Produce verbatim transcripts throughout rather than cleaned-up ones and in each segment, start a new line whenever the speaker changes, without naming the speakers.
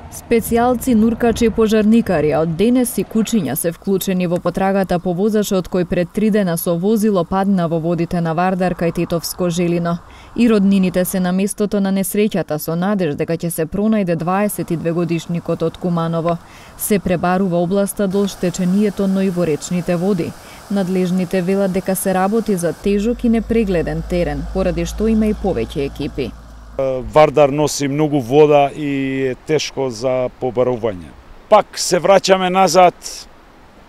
Специјалци, нуркачи и пожарникари од денес и кучиња се вклучени во потрагата по возачот кој пред три дена со возило падна во водите на Вардар кај Тетовско Желино. И роднините се на местото на несреќата со надеж дека ќе се пронајде дваесет и две годишникот од Куманово. Се пребарува областа до оштеченијето, но и во речните води. Надлежните велат дека се работи за тежок и непрегледен терен, поради што има и повеќе екипи.
Вардар носи многу вода и е тешко за побарување. Пак се враќаме назад,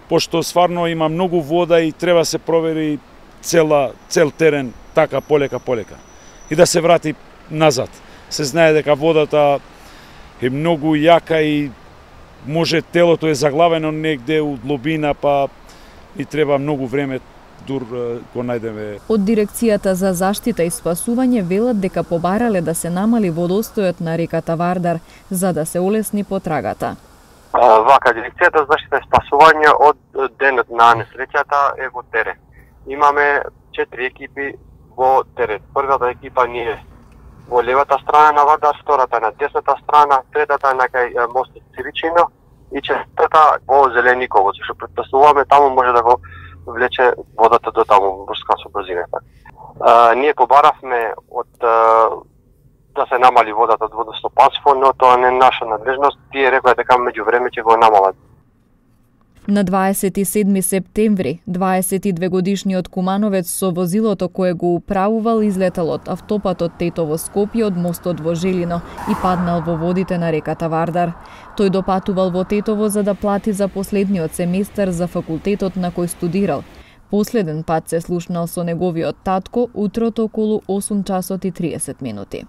пошто стварно има многу вода и треба се провери цела, цел терен така полека полека. И да се врати назад. Се знае дека водата е многу јака и може телото е заглавено негде у длобина, па и треба многу време дур го најдеме.
Од Дирекцијата за заштита и спасување велат дека побарале да се намали водостојот на реката Вардар за да се олесни потрагата.
Вака, Дирекцијата за заштита и спасување од денот на несреќата е во терен. Имаме четири екипи во терен. Првата екипа ни е во левата страна на Вардар, втората на десната страна, третата на кај мостот Циричино и четвртата во Зелениково, зашто претпоставуваме таму може да го влече водата до таму брзка со брзината. А, ние побаравме од а, да се намали водата од водостопанство, но тоа не е наша надлежност. Тие рекоа дека меѓувреме ќе го намалат.
На дваесет и седми септември, дваесет и две годишниот кумановец со возилото кое го управувал излетал од автопатот Тетово Скопје од мостот во Желино и паднал во водите на реката Вардар. Тој допатувал во Тетово за да плати за последниот семестар за факултетот на кој студирал. Последен пат се слушнал со неговиот татко утрото околу осум часот и триесет минути.